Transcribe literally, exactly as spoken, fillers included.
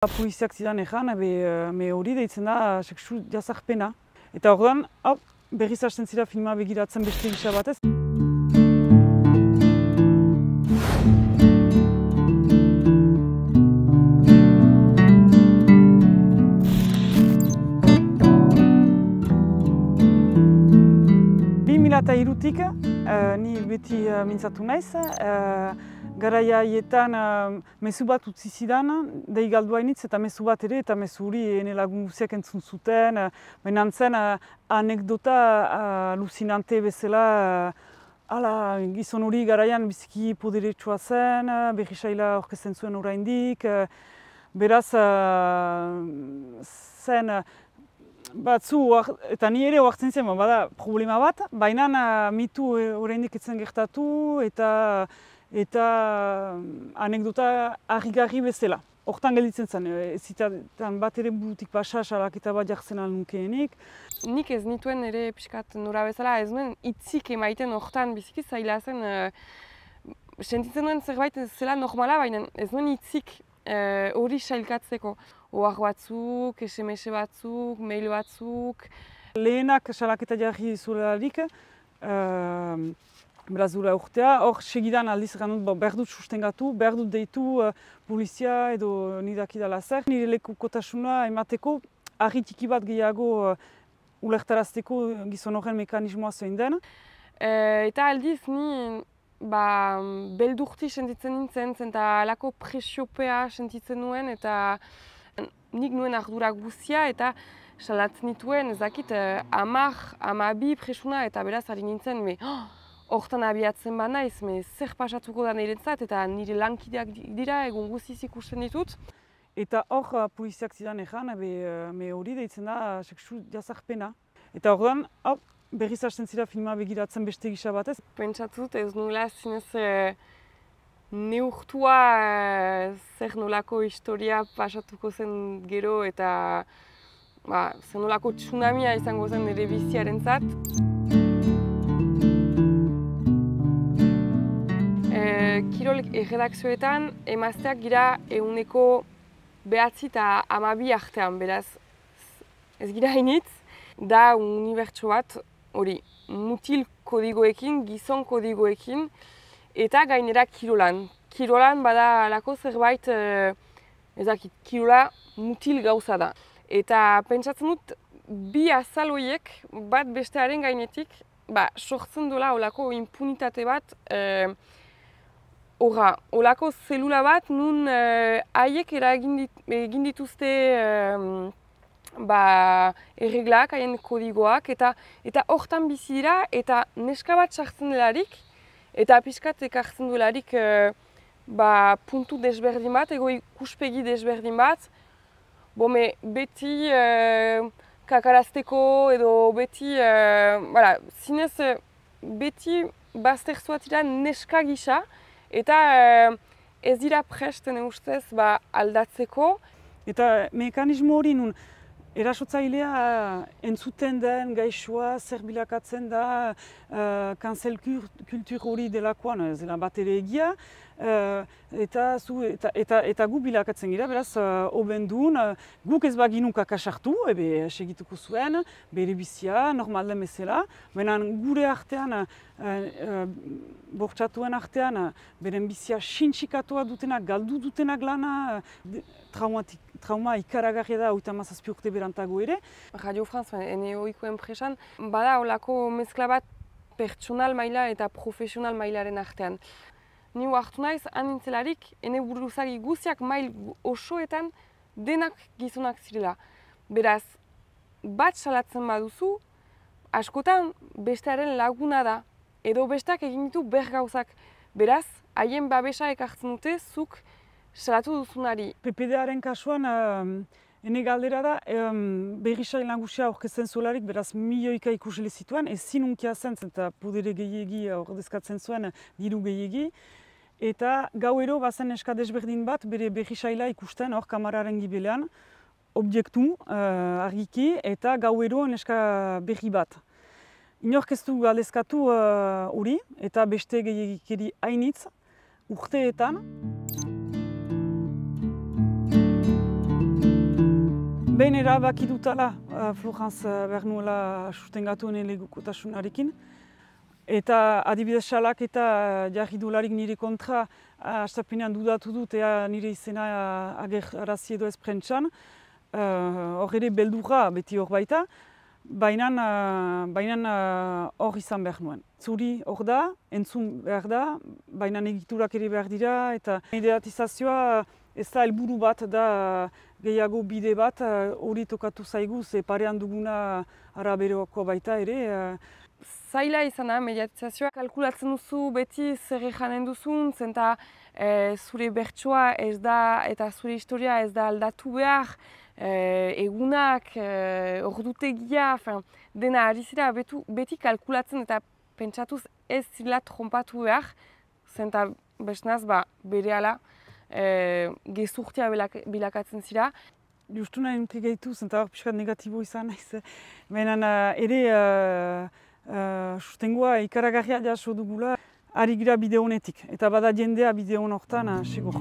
Poliziak zidan egan, me hori deitzen da sexu jazarpena. Eta orduan, berriz hasten zira filma begiratzen beste gisa batez. bi mila hirutik ni beti mintzatu naiz. Garaia haietan mezu bat utzi zidan, dei galdu hainitz eta mezu bat ere, eta mezu hori ene lagun guziak entzun zuten. Baina zen anekdota aluzinante bezala, ala, gizon hori garaian biziki poderetsua zen, berrisaila orkesten zuen oraindik. Beraz, zen batzu, eta ni ere oartzen zen, bada problema bat, baina mitu oraindik etzen gertatu, eta eta anekdota harrigarri bezala. Hortan gelditzen zen, ez zitan bat ere burutik pasa, salaketa bat jartzen alnukeenik. Nik ez nituen ere pixkat nora bezala, ez nuen hitzik emaiten hortan biziki zaila zen. Sentitzen nuen zerbait zela normala, baina ez nuen hitzik hori sailkatzeko. Ohar batzuk, S M S batzuk, mail batzuk. Lehenak salaketa jarri zularik, beraz dura urtea, hor segidan aldiz egan dut, behar dut sustengatu, behar dut deitu polizia edo nidakidala zer. Nire lekukotasuna emateko, argi txiki bat gehiago ulertarazteko gizon horren mekanismoa zein den. Eta aldiz ni beldurti sentitzen nintzen, eta alako presiopea sentitzen nuen, eta nik nuen ardura guzia, eta salatzen nituen, ezakit, hamar, hamabi presuna, eta beraz ari nintzen, hortan abiatzen ba naiz, zer pasatuko da niretzat, eta nire lankideak dira, egun guziz ikusten ditut. Eta hor poliziak zidan egan, me hori deitzen da sexu jazarpena. Eta orduan, berriz hasten zira filma begiratzen beste gisa batez. Pentsatut ez nula zinez neurtua zer nolako historia pasatuko zen gero, eta zer nolako tsunamia izango zen nire biziarentzat. Kirol erredakzioetan emazteak gira ehuneko behatzi eta hamabi artean, beraz ez gira hainitz, da unibertso bat hori mutil kodigoekin, gizon kodigoekin, eta gainera kirolan. Kirolan bada alako zerbait, ezakit, kirola mutil gauza da. Eta pentsatzen dut, bi azal horiek bat bestearen gainetik, sortzen dola olako impunitate bat, Horra, olako zelula bat, nun haiek egin dituzte erreglak, haien kodigoak, eta hortan bizi dira, eta neska bat sartzen delarik, eta pixkat ekartzen delarik puntu desberdin bat, ego ikuspegi desberdin bat, bome beti kakarazteko edo beti, zinez beti bazterzuat dira neska gisa, eta ez dira presten ustez aldatzeko. Eta mekanismo hori nun erasotzailea entzuten den gaixoa zer bilakatzen da cancel kultur hori delakoan, ez dela bat ere egia, eta gu bilakatzen gira, beraz, hoben duen, guk ez baginun kakasartu, ebe segituko zuen, bere bizia, normal den bezala, baina gure artean, bortxatuen artean, beren bizia sintxikatua dutenak, galdu dutenak lana, trauma ikaragarria da, oita mazazpi urte berantago ere. Radio France, ene oiko enpresan, bada olako mezkla bat pertsonal maila eta profesional mailaren artean. Ni hartu naiz, anintzelarik, ene buruzagi guziak mail osoetan denak gizonak zirela. Beraz, bat salatzen baduzu, askotan bestearen laguna da, edo besteak egin ditu ber gauzak. Beraz, haien babesa ekartzen dute, zuk salatu duzunari. P P D-aren kasuan, ene galdera da, berrisail nagusia aurkezten zuelarik, beraz milioika ikusle zituen, ezin unkia zen, eta podere gehiegi ordezkatzen zuen diru gehiegi. Eta gauero bazen neska desberdin bat, bere berrisaila ikusten hor kamararen gibelean, objektu argiki, eta gauero neska berri bat. Inork ez du galdezkatu hori, eta beste gehiagikeri hainitz urteetan. behin erabaki dutala, uh, Florence uh, behar nuela sustengatu ene legokotasunarekin. Eta adibidez salak eta jarri dularik nire kontra, hastapenean dudatu dut, ea nire izena uh, agerarazi edo ez prentsan. Hor uh, ere beldurra beti hor baita, baina hor uh, izan behar nuen. Zuri hor da, entzun behar da, baina egiturak ere behar dira, eta mediatizazioa ez da helburu bat da gehiago bide bat, hori uh, tokatu zaigu, ze parean duguna araberoko baita ere. Uh, Zaila izan da, mediatizazioa. Kalkulatzen duzu beti zer janen duzun, zenta e, zure bertsoa ez da eta zure historia ez da aldatu behar, e, egunak, e, ordutegia, fin, dena ari zira betu, beti kalkulatzen eta pentsatuz ez zila trompatu behar, zenta besnaz ba, berehala e, gezurtia bilakatzen zira. Justu nahi nuke gehitu, zenta hor pixkat negatibo izan naiz. Baina ere uh, Uh, sustengoa ikaragarria jaso dugula, ari gira bide honetik, eta bada jendea bide hon hortan, uh, segur.